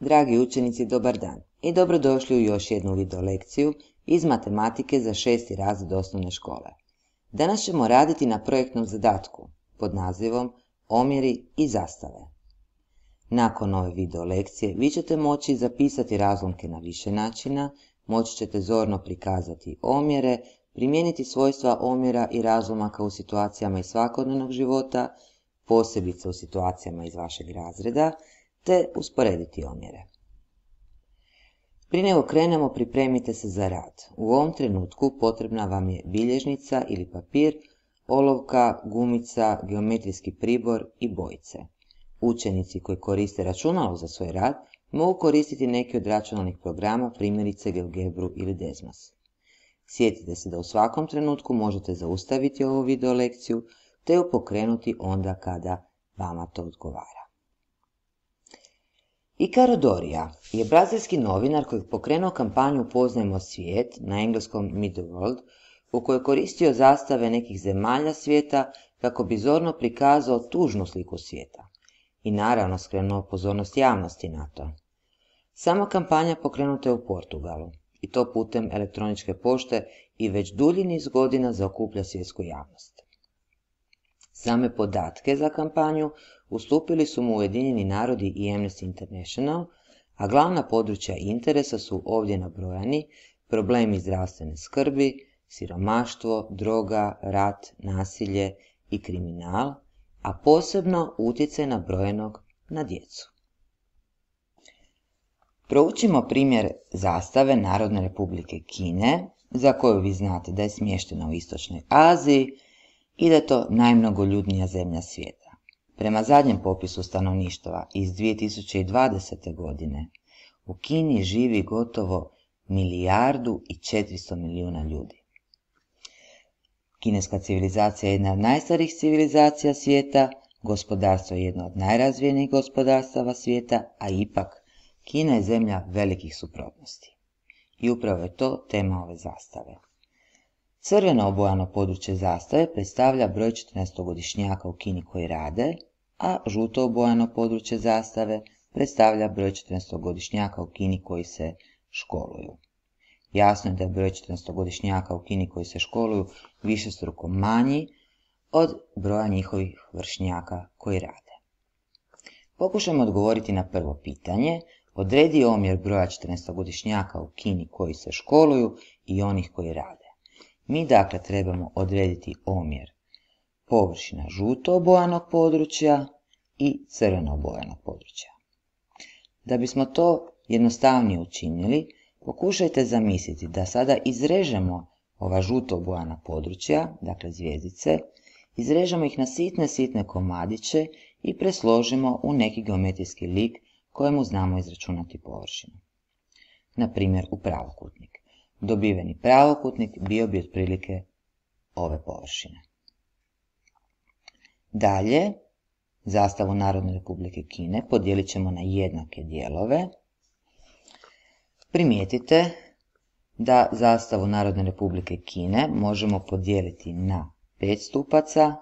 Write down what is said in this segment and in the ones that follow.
Dragi učenici, dobar dan i dobrodošli u još jednu video lekciju iz matematike za 6. razred osnovne škole. Danas ćemo raditi na projektnom zadatku pod nazivom Omjeri i zastave. Nakon ove video lekcije vi ćete moći zapisati razlomke na više načina, moći ćete zorno prikazati omjere, primijeniti svojstva omjera i razlomaka u situacijama iz svakodnevnog života, posebice u situacijama iz vašeg razreda, te usporediti omjere. Prije nego krenemo, pripremite se za rad. U ovom trenutku potrebna vam je bilježnica ili papir, olovka, gumica, geometrijski pribor i bojice. Učenici koji koriste računalo za svoj rad mogu koristiti neki od računalnih programa, primjerice GeoGebru ili Desmos. Sjetite se da u svakom trenutku možete zaustaviti ovu video lekciju te ju pokrenuti onda kada vama to odgovara. Icaro Doria je brazilski novinar koji je pokrenuo kampanju Upoznajmo svijet, na engleskom Meet the World, u kojoj je koristio zastave nekih zemalja svijeta kako bi zorno prikazao tužnu sliku svijeta i naravno skrenuo pozornost javnosti na to. Sama kampanja pokrenuta je u Portugalu i to putem elektroničke pošte i već dulji niz godina zaokuplja svjetsku javnost. Same podatke za kampanju ustupili su mu Ujedinjeni narodi i Amnesty International, a glavna područja interesa su ovdje nabrojani: problemi zdravstvene skrbi, siromaštvo, droga, rat, nasilje i kriminal, a posebno utjecaj nabrojenog na djecu. Proučimo primjer zastave Narodne Republike Kine, za koju vi znate da je smještena u Istočnoj Aziji i da je to najmnogoljudnija zemlja svijeta. Prema zadnjem popisu stanovništva iz 2020. godine u Kini živi gotovo 1,4 milijuna ljudi. Kineska civilizacija je jedna od najstarijih civilizacija svijeta, gospodarstvo je jedno od najrazvijenijih gospodarstava svijeta, a ipak Kina je zemlja velikih suprotnosti. I upravo je to tema ove zastave. Crveno obojano područje zastave predstavlja broj 14-godišnjaka u Kini koji rade, a žuto obojano područje zastave predstavlja broj 14-godišnjaka u Kini koji se školuju. Jasno je da je broj 14-godišnjaka u Kini koji se školuju višestruko manji od broja njihovih vršnjaka koji rade. Pokušajmo odgovoriti na prvo pitanje. Odredi omjer broja 14-godišnjaka u Kini koji se školuju i onih koji rade. Mi dakle trebamo odrediti omjer površina žuto obojanog područja i crveno obojanog područja. Da bismo to jednostavnije učinili, pokušajte zamisliti da sada izrežemo ova žuto obojana područja, dakle zvjezdice, izrežemo ih na sitne komadiće i presložimo u neki geometrijski lik kojemu znamo izračunati površinu. Na primjer u pravokutnik. Dobiveni pravokutnik bio bi otprilike ove površine. Dalje, zastavu Narodne Republike Kine podijelit ćemo na jednake dijelove. Primijetite da zastavu Narodne Republike Kine možemo podijeliti na 5 stupaca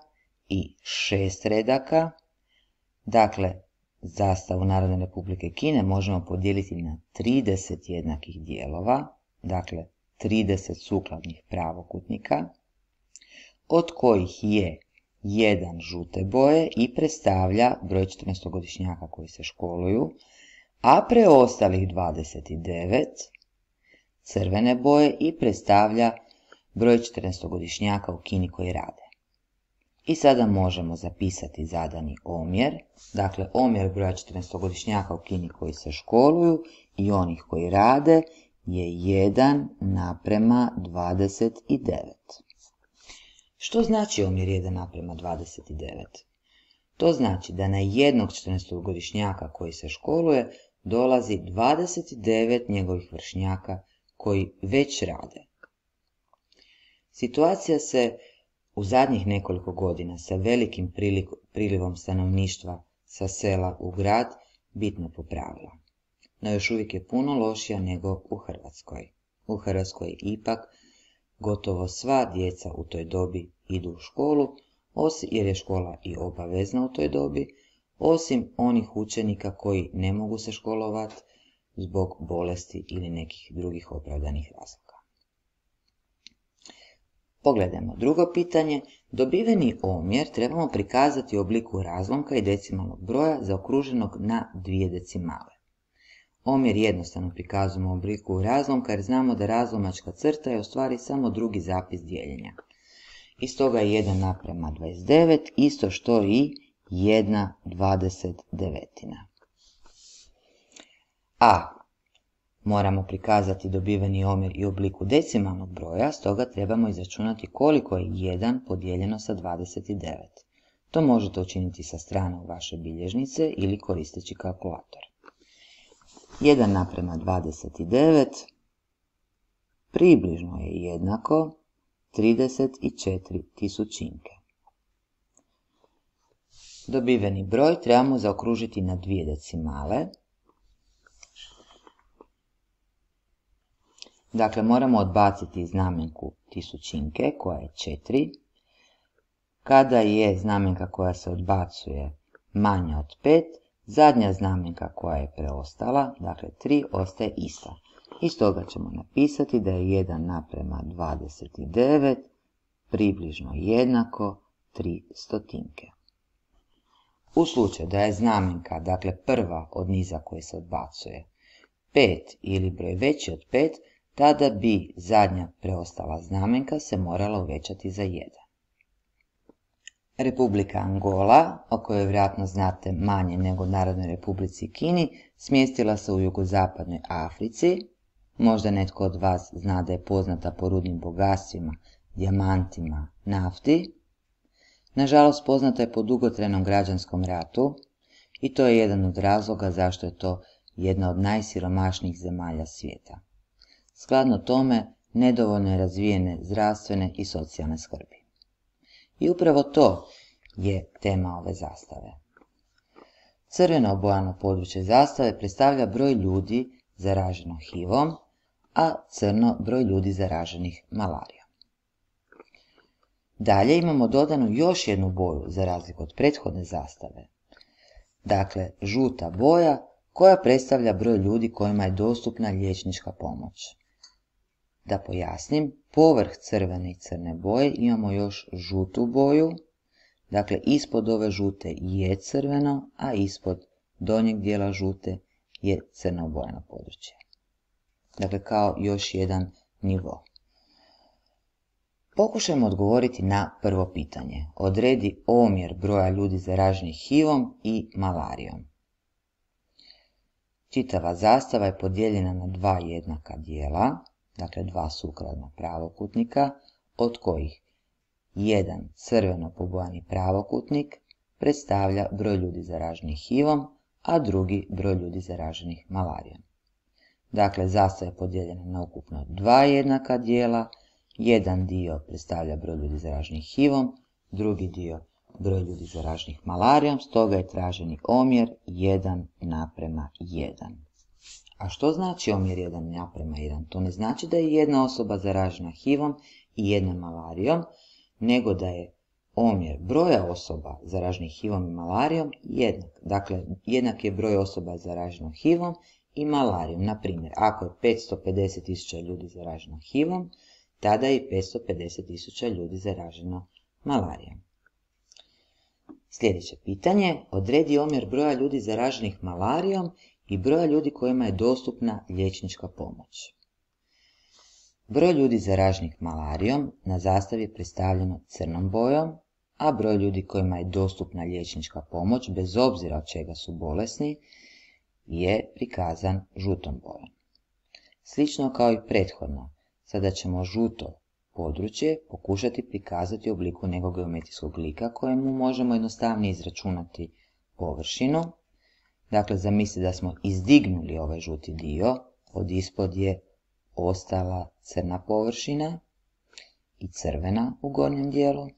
i 6 redaka. Dakle, zastavu Narodne Republike Kine možemo podijeliti na 30 jednakih dijelova, dakle 30 sukladnih pravokutnika, od kojih je jedan žute boje i predstavlja broj 14-godišnjaka koji se školuju, a preostalih 29 crvene boje i predstavlja broj 14-godišnjaka u Kini koji rade. I sada možemo zapisati zadani omjer, dakle omjer broja 14-godišnjaka u Kini koji se školuju i onih koji rade je 1:29. Što znači omjer 1:29? To znači da na jednog 14-godišnjaka koji se školuje dolazi 29 njegovih vršnjaka koji već rade. Situacija se u zadnjih nekoliko godina sa velikim prilivom stanovništva sa sela u grad bitno popravila. No još uvijek je puno lošija nego u Hrvatskoj. U Hrvatskoj ipak gotovo sva djeca u toj dobi idu u školu, jer je škola i obavezna u toj dobi, osim onih učenika koji ne mogu se školovati zbog bolesti ili nekih drugih opravdanih razloga. Pogledajmo drugo pitanje. Dobiveni omjer trebamo prikazati u obliku razlomka i decimalnog broja zaokruženog na 2 decimale. Omjer jednostavno prikazujemo u obliku razlomka jer znamo da razlomačka crta je u stvari samo drugi zapis dijeljenja. I stoga je 1:29 isto što i 1/29. A moramo prikazati dobiveni omjer i u obliku decimalnog broja, stoga trebamo izračunati koliko je 1 podijeljeno sa 29. To možete učiniti sa strane u vaše bilježnice ili koristeći kalkulator. 1:29 približno je jednako 34 tisućinke. Dobiveni broj trebamo zaokružiti na 2 decimale. Dakle, moramo odbaciti znamenku tisućinke koja je 4. Kada je znamenka koja se odbacuje manja od 5, zadnja znamenka koja je preostala, dakle 3, ostaje ista. I stoga ćemo napisati da je 1:29 približno jednako 3 stotinke. U slučaju da je znamenka, dakle prva od niza koje se odbacuje, 5 ili broj veći od 5, tada bi zadnja preostala znamenka se morala uvećati za 1. Republika Angola, o kojoj vjerojatno znate manje nego Narodnoj Republici Kini, smjestila se u jugozapadnoj Africi. Možda netko od vas zna da je poznata po rudnim bogatstvima, dijamantima, nafti. Nažalost, poznata je po dugotrajnom građanskom ratu i to je jedan od razloga zašto je to jedna od najsiromašnijih zemalja svijeta. Skladno tome, nedovoljno je razvijene zdravstvene i socijalne skrbi. I upravo to je tema ove zastave. Crveno obojano područje zastave predstavlja broj ljudi zaraženo HIV-om, a crno broj ljudi zaraženih malarijom. Dalje imamo dodanu još jednu boju za razliku od prethodne zastave. Dakle, žuta boja koja predstavlja broj ljudi kojima je dostupna liječnička pomoć. Da pojasnim, povrh crvene i crne boje imamo još žutu boju, dakle ispod ove žute je crveno, a ispod donjeg dijela žute je crno obojano područje. Dakle, kao još jedan nivo. Pokušajmo odgovoriti na prvo pitanje. Odredi omjer broja ljudi zaraženih HIV-om i malarijom. Čitava zastava je podijeljena na 2 jednaka dijela, dakle 2 sukladna pravokutnika, od kojih jedan crveno pobojani pravokutnik predstavlja broj ljudi zaraženih HIV-om, a drugi broj ljudi zaraženih malarijom. Dakle, zastava je podijeljena na ukupno 2 jednaka dijela, jedan dio predstavlja broj ljudi zaraženih HIV-om, drugi dio broj ljudi zaraženih malarijom, stoga je traženi omjer 1:1. A što znači omjer 1:1? To ne znači da je jedna osoba zaražena HIV-om i jedna malarijom, nego da je omjer broja osoba zaraženih HIV-om i malarijom jednak. Dakle, jednak je broj osoba zaraženo HIV-om i malarijom. Na primjer, ako je 550.000 ljudi zaraženo HIV-om, tada je i 550.000 ljudi zaraženo malarijom. Sljedeće pitanje. Odredi omjer broja ljudi zaraženih malarijom i broja ljudi kojima je dostupna liječnička pomoć. Broj ljudi zaraženih malarijom na zastavi je predstavljeno crnom bojom, a broj ljudi kojima je dostupna liječnička pomoć, bez obzira od čega su bolesni, je prikazan žutom bojom. Slično kao i prethodno, sada ćemo žuto područje pokušati prikazati u obliku nekog geometrijskog lika kojemu možemo jednostavnije izračunati površinu. Dakle, zamislite da smo izdignuli ovaj žuti dio, od ispod je ostala crna površina i crvena u gornjem dijelu.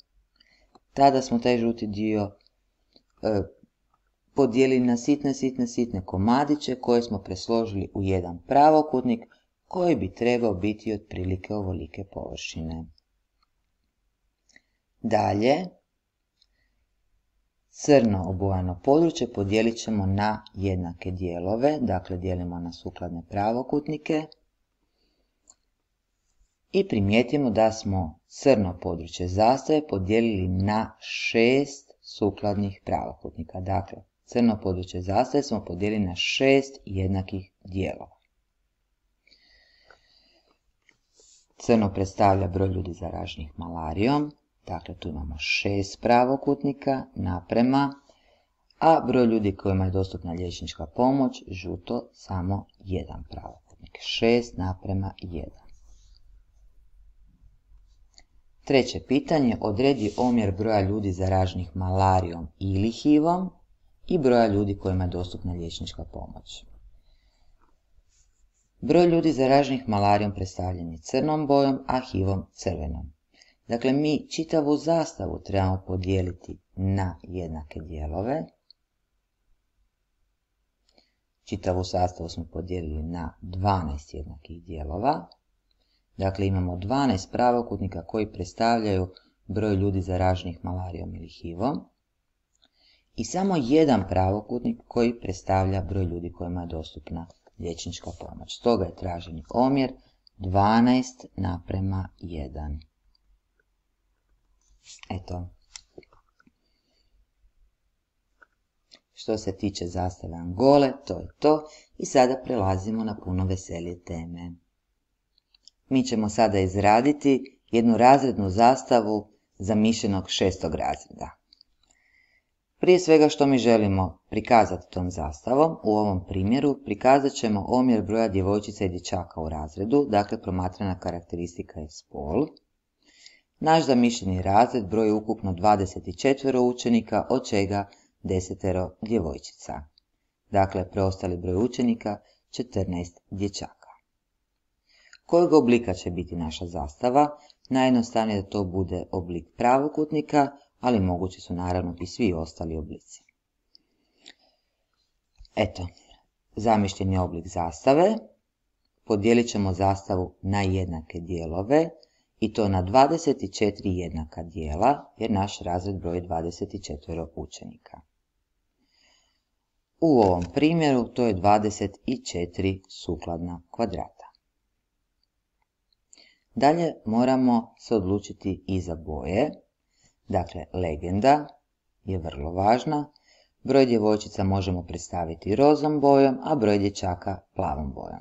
Tada smo taj žuti dio podijelili na sitne komadiće koje smo presložili u jedan pravokutnik koji bi trebao biti otprilike ovolike površine. Dalje, Crno obojano područje podijelit ćemo na jednake dijelove, dakle dijelimo na sukladne pravokutnike. I primijetimo da smo crno područje zastave podijelili na 6 sukladnih pravokutnika. Dakle, crno područje zastave smo podijelili na 6 jednakih dijelova. Crno predstavlja broj ljudi zaraženih malarijom, dakle tu imamo 6 pravokutnika naprema, a broj ljudi kojima je dostupna liječnička pomoć, žuto, samo jedan pravokutnik, 6:1. Treće pitanje, odredi omjer broja ljudi zaraženih malarijom ili HIV-om i broja ljudi kojima je dostupna liječnička pomoć. Broj ljudi zaraženih malarijom predstavljen je crnom bojom, a HIV-om crvenom. Dakle, mi čitavu zastavu trebamo podijeliti na jednake dijelove. Čitavu sastavu smo podijelili na 12 jednakih dijelova. Dakle, imamo 12 pravokutnika koji predstavljaju broj ljudi zaraženih malarijom ili HIV-om i samo jedan pravokutnik koji predstavlja broj ljudi kojima je dostupna liječnička pomoć. Stoga je traženi omjer 12:1. Eto. Što se tiče zastave Angole, to je to i sada prelazimo na puno veselije teme. Mi ćemo sada izraditi jednu razrednu zastavu zamišljenog 6. razreda. Prije svega što mi želimo prikazati tom zastavom, u ovom primjeru prikazat ćemo omjer broja djevojčica i dječaka u razredu, dakle promatrana karakteristika je spol. Naš zamišljeni razred broji ukupno 24 učenika, od čega 10 djevojčica. Dakle, preostali broj učenika 14 dječaka. Kojeg oblika će biti naša zastava? Najjednostavnije da to bude oblik pravokutnika, ali mogući su naravno i svi ostali oblici. Eto, zamišljeni oblik zastave. Podijelit ćemo zastavu na jednake dijelove i to na 24 jednaka dijela, jer naš razred broji 24 učenika. U ovom primjeru to je 24 sukladna kvadrata. Dalje moramo se odlučiti i za boje. Dakle, legenda je vrlo važna. Broj djevojčica možemo predstaviti rozom bojom, a broj dječaka plavom bojom.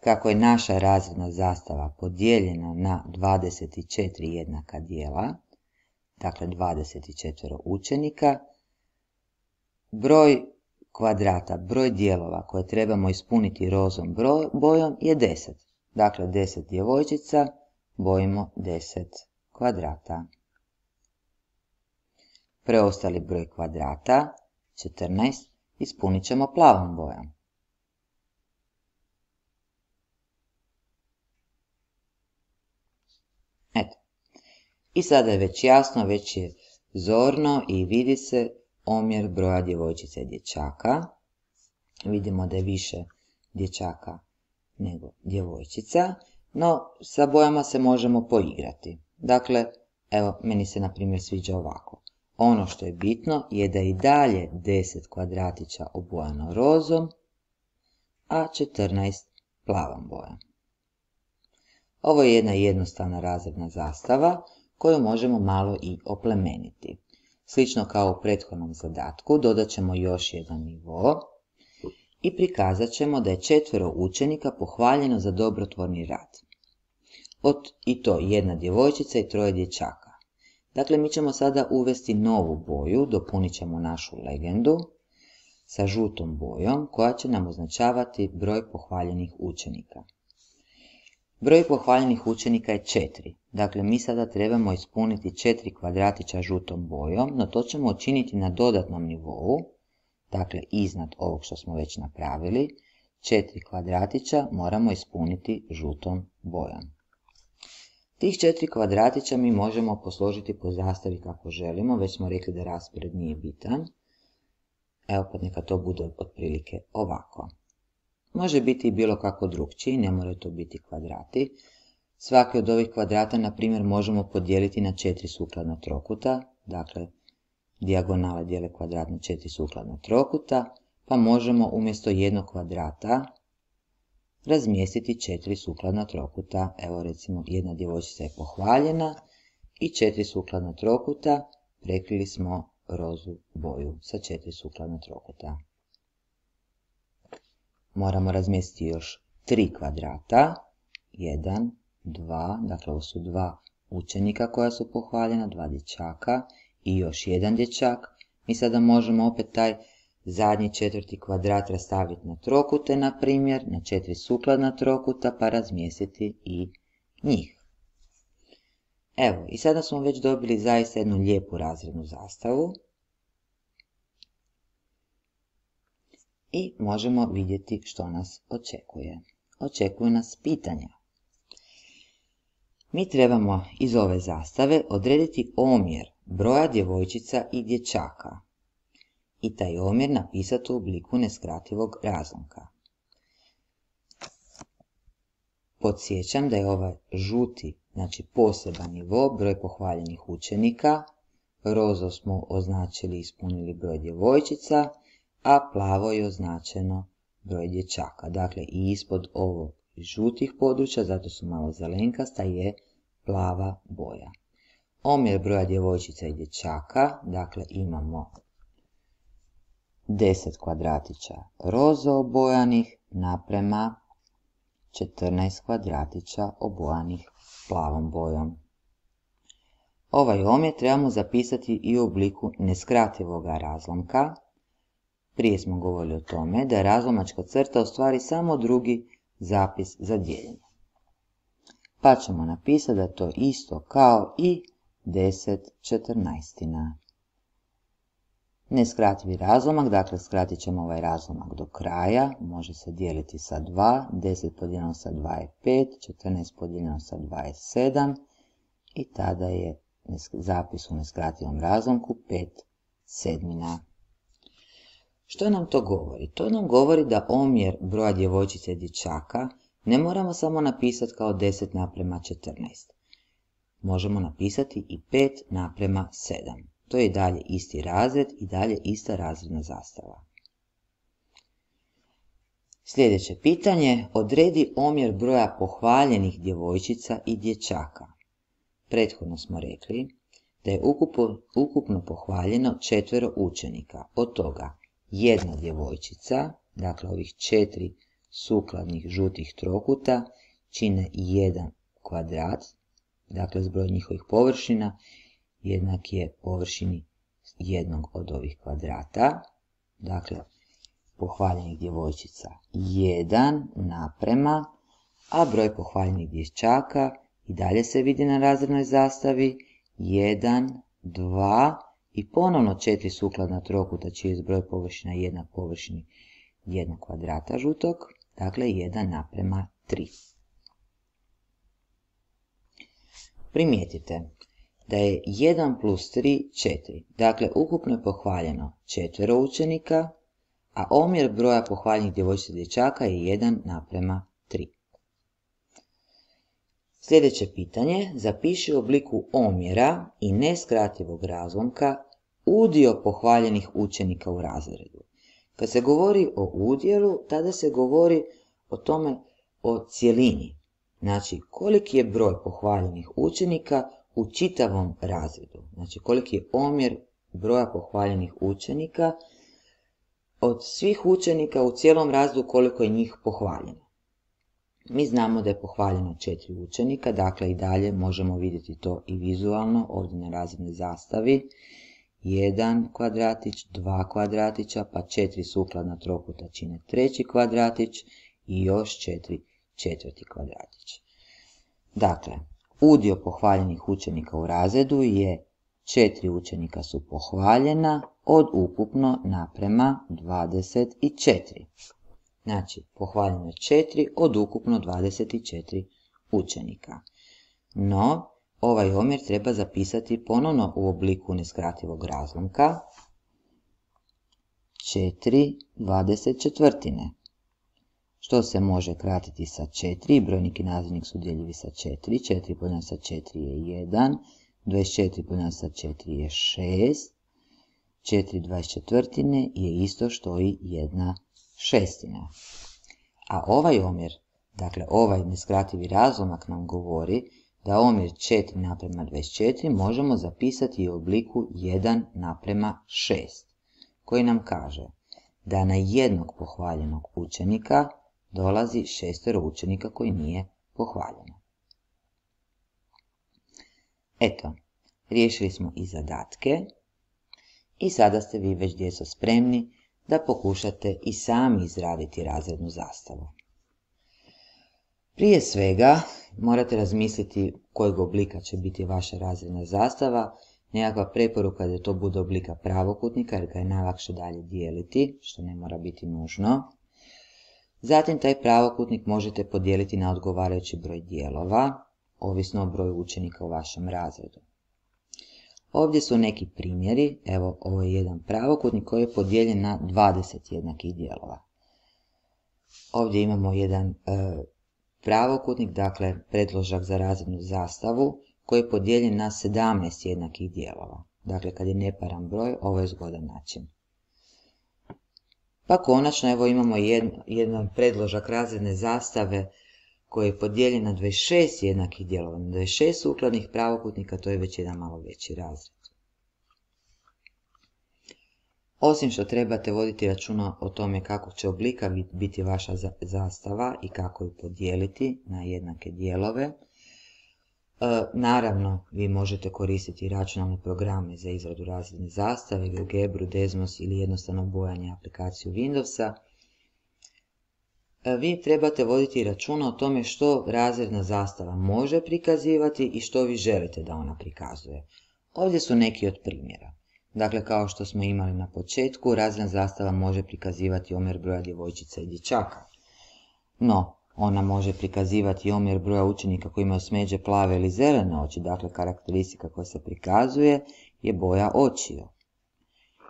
Kako je naša razredna zastava podijeljena na 24 jednaka dijela, dakle 24 učenika, broj kvadrata, broj dijelova koje trebamo ispuniti rozom bojom je 10. Dakle, 10 djevojčica bojimo 10 kvadrata. Preostali broj kvadrata, 14, ispunit ćemo plavom bojom. Eto. I sada je već jasno, već je zorno i vidi se omjer broja djevojčica i dječaka. Vidimo da je više dječaka nego djevojčica, no sa bojama se možemo poigrati. Dakle, evo, meni se na primjer sviđa ovako. Ono što je bitno je da i dalje 10 kvadratića obojano rozom, a 14 plavom bojom. Ovo je jedna jednostavna razredna zastava koju možemo malo i oplemeniti. Slično kao u prethodnom zadatku, dodat ćemo još jedan nivo i prikazat ćemo da je 4 učenika pohvaljeno za dobrotvorni rad. I to jedna djevojčica i 3 dječaka. Dakle, mi ćemo sada uvesti novu boju, dopunit ćemo našu legendu sa žutom bojom koja će nam označavati broj pohvaljenih učenika. Broj pohvaljenih učenika je 4. Dakle, mi sada trebamo ispuniti 4 kvadratića žutom bojom, no to ćemo učiniti na dodatnom nivou, dakle iznad ovog što smo već napravili. 4 kvadratića moramo ispuniti žutom bojom. Tih 4 kvadratića mi možemo posložiti po zastavi kako želimo, već smo rekli da raspored nije bitan. Evo pa neka to bude otprilike ovako. Može biti i bilo kako drukčiji, ne moraju to biti kvadrati. Svaki od ovih kvadrata, na primjer, možemo podijeliti na 4 sukladna trokuta, dakle dijagonale dijele kvadrat na 4 sukladna trokuta, pa možemo umjesto jednog kvadrata razmjestiti 4 sukladna trokuta. Evo recimo jedna djevojčica je pohvaljena i 4 sukladna trokuta, prekrili smo rozu boju sa 4 sukladna trokuta. Moramo razmjestiti još 3 kvadrata, 1, 2, dakle ovo su 2 učenika koja su pohvaljena, 2 dječaka i još jedan dječak. Mi sada možemo opet taj zadnji 4. kvadrat rastaviti na trokute, na primjer, na 4 sukladna trokuta, pa razmjestiti i njih. Evo, i sada smo već dobili zaista jednu lijepu razrednu zastavu. I možemo vidjeti što nas očekuje. Očekuju nas pitanja. Mi trebamo iz ove zastave odrediti omjer broja djevojčica i dječaka i taj omjer napisati u obliku neskrativog razlomka. Podsjećam da je ovaj žuti, znači poseban nivo, broj pohvaljenih učenika, rozo smo označili i ispunili broj djevojčica, a plavo je označeno broj dječaka. Dakle, i ispod ovog žutih područja, zato su malo zelenkasta, je plava boja. Omjer broja djevojčica i dječaka, dakle imamo 10 kvadratića rozo obojanih naprema 14 kvadratića obojanih plavom bojom. Ovaj omjer trebamo zapisati i u obliku neskrativog razlomka. Prije smo govorili o tome da je razlomačka crta u stvari samo drugi zapis za dijeljenje. Pa ćemo napisati da je to isto kao i 10 četrnaestina. Neskrativi razlomak, dakle skratit ćemo ovaj razlomak do kraja, može se dijeliti sa 2, 10 podijeljeno sa 2 je 5, 14 podijeljeno sa 2 je 7 i tada je zapis u neskrativom razlomku 5/7. Što nam to govori? To nam govori da omjer broja djevojčica i dječaka ne moramo samo napisati kao 10:14. Možemo napisati i 5:7. To je i dalje isti razred i dalje ista razredna zastava. Sljedeće pitanje, odredi omjer broja pohvaljenih djevojčica i dječaka. Prethodno smo rekli da je ukupno pohvaljeno 4 učenika, od toga jedna djevojčica, dakle ovih 4 sukladnih žutih trokuta čine 1 kvadrat, dakle zbroj njihovih površina jednak je površini jednog od ovih kvadrata, dakle pohvaljenih djevojčica 1 naprema, a broj pohvaljenih dječaka i dalje se vidi na razrednoj zastavi 1, 2 i ponovno 4 sukladna trokuta čiji je zbroj površina jednak površini jednog kvadrata žutog, dakle 1:3. Primijetite da je 1 plus 3 4, dakle ukupno je pohvaljeno 4 učenika, a omjer broja pohvaljenih djevojčica i dječaka je 1:3. Sljedeće pitanje, zapiši u obliku omjera i neskrativog razlomka udio pohvaljenih učenika u razredu. Kad se govori o udjelu, tada se govori o tome, o cjelini. Znači, koliki je broj pohvaljenih učenika u čitavom razredu. Znači, koliki je omjer broja pohvaljenih učenika od svih učenika u cijelom razredu, koliko je njih pohvaljeno. Mi znamo da je pohvaljeno 4 učenika, dakle i dalje možemo vidjeti to i vizualno ovdje na razrednoj zastavi. 1 kvadratić, 2 kvadratića, pa 4 sukladna trokuta čine 3. kvadratić i još 4 četvrti kvadratić. Dakle, udio pohvaljenih učenika u razredu je 4 učenika su pohvaljena od ukupno naprema 24. Znači, pohvaljeno je 4 od ukupno 24 učenika. No, ovaj omjer treba zapisati ponovno u obliku neskrativog razlomka 4/24. Što se može kratiti sa 4, brojnik i nazivnik su udjeljivi sa 4, 4 podijeljeno sa 4 je 1, 24 podijeljeno sa 4 je 6, 4/24 je isto što i 1/6. A ovaj omjer, dakle ovaj neskrativi razlomak nam govori da omjer 4:24 možemo zapisati i u obliku 1:6, koji nam kaže da na jednog pohvaljenog učenika dolazi 6 učenika koji nije pohvaljeno. Eto, riješili smo i zadatke i sada ste vi već, djeco, spremni da pokušate i sami izraditi razrednu zastavu. Prije svega morate razmisliti kojeg oblika će biti vaša razredna zastava. Nekakva preporuka je da to bude oblika pravokutnika jer ga je najlakše dalje dijeliti, što ne mora biti nužno. Zatim taj pravokutnik možete podijeliti na odgovarajući broj dijelova, ovisno o broju učenika u vašem razredu. Ovdje su neki primjeri. Evo, ovo je jedan pravokutnik koji je podijeljen na 20 jednakih dijelova. Ovdje imamo jedan pravokutnik, dakle predložak za razrednu zastavu, koji je podijeljen na 17 jednakih dijelova. Dakle, kad je neparan broj, ovo je zgodan način. Pa konačno, evo imamo jedan predložak razredne zastave koji je podijeljen na 26 jednakih dijelova. Na 26 sukladnih pravokutnika, to je već jedan malo veći razred. Osim što trebate voditi računa o tome kako će oblika biti vaša zastava i kako ju podijeliti na jednake dijelove, naravno vi možete koristiti računalne programe za izradu razredne zastave, GeoGebru, Desmos ili jednostavno bojanje aplikaciju Windowsa. Vi trebate voditi računa o tome što razredna zastava može prikazivati i što vi želite da ona prikazuje. Ovdje su neki od primjera. Dakle, kao što smo imali na početku, razredna zastava može prikazivati omjer broja djevojčica i dječaka. No, ona može prikazivati omjer broja učenika koji imaju smeđe plave ili zelene oči, dakle karakteristika koja se prikazuje je boja očiju.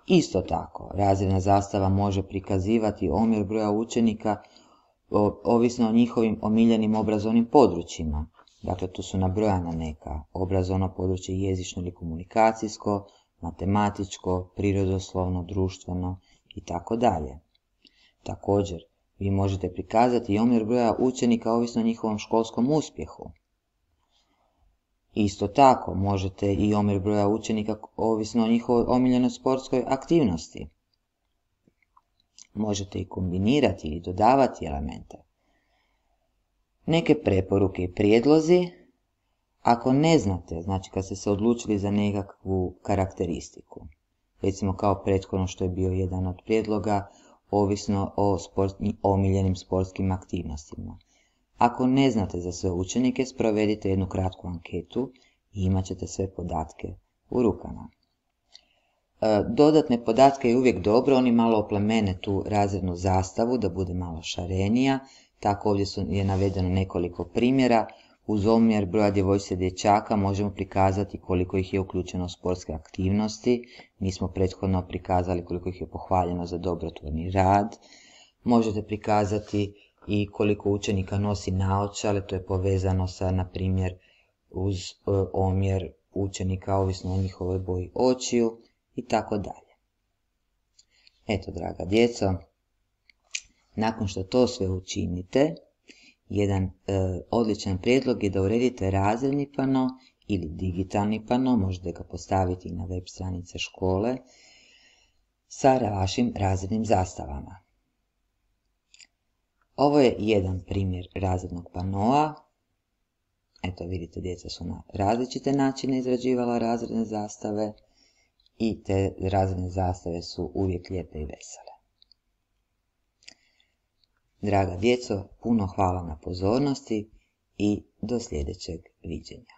Isto tako, razredna zastava može prikazivati omjer broja učenika ovisno o njihovim omiljenim obrazovnim područjima. Dakle, tu su nabrojana neka: obrazovno područje jezično ili komunikacijsko, matematičko, prirodoslovno, društveno i tako dalje. Također, vi možete prikazati i omjer broja učenika ovisno o njihovom školskom uspjehu. Isto tako, možete i omjer broja učenika ovisno o njihovoj omiljenoj sportskoj aktivnosti. Možete i kombinirati ili dodavati elemente. Neke preporuke i prijedlozi: ako ne znate, znači kad ste se odlučili za nekakvu karakteristiku, recimo kao prethodno što je bio jedan od prijedloga, ovisno o omiljenim sportskim aktivnostima. Ako ne znate za sve učenike, sprovedite jednu kratku anketu i imat ćete sve podatke u rukama. Dodatne podatke je uvijek dobro, oni malo oplemene tu razrednu zastavu da bude malo šarenija. Tako ovdje je navedeno nekoliko primjera. Uz omjer broja djevojčica i dječaka možemo prikazati koliko ih je uključeno u sportske aktivnosti. Mi smo prethodno prikazali koliko ih je pohvaljeno za dobrotvorni rad. Možete prikazati i koliko učenika nosi naočale, to je povezano sa, na primjer, uz omjer učenika ovisno o njihovoj boji očiju i tako dalje. Eto, draga djeco, nakon što to sve učinite, jedan odličan prijedlog je da uredite razredni pano ili digitalni pano, možete ga postaviti na web stranice škole, sa vašim razrednim zastavama. Ovo je jedan primjer razrednog panoa. Eto, vidite, djeca su na različite načine izrađivala razredne zastave i te razredne zastave su uvijek lijepe i vesele. Draga djeco, puno hvala na pozornosti i do sljedećeg viđenja.